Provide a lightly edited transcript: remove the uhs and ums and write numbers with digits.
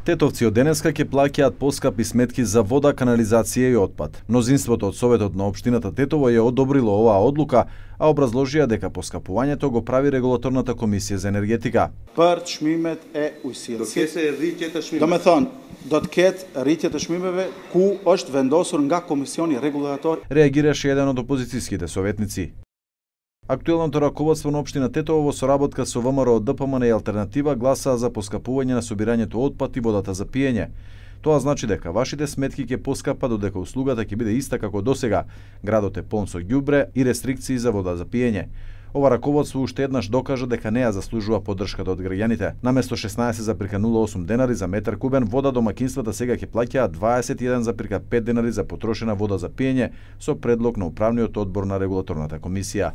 Тетовци од денеска ќе плаќаат поскапи сметки за вода, канализација и отпад. Мнозинството од Советот на општината Тетово ја одобрило оваа одлука, а образложија дека поскапувањето го прави регулаторната комисија за енергетика. Për çmimet e ujësisë. Do të rritjet e çmimeve. Do të thonë, do të ketë rritjet e çmimeve ku është vendosur nga Komisioni Rregulator. Реагираше еден од опозицијските советници. Актуелното раководство на општина Тетово во соработка со ВМРО, ДПМН и Алтернатива гласаа за поскапување на собирањето отпад и водата за пиење. Тоа значи дека вашите сметки ќе поскапат додека услугата ќе биде иста како досега. Градот е полн со ѓубре и рестрикции за вода за пиење. Ова раководство уште еднаш докажа дека не ја заслужува поддршката од граѓаните. Наместо 16,08 денари за метар кубен вода, домакинствата сега ќе плаќаат 21,5 денари за потрошена вода за пиење со предлог на управниот одбор на регулаторната комисија.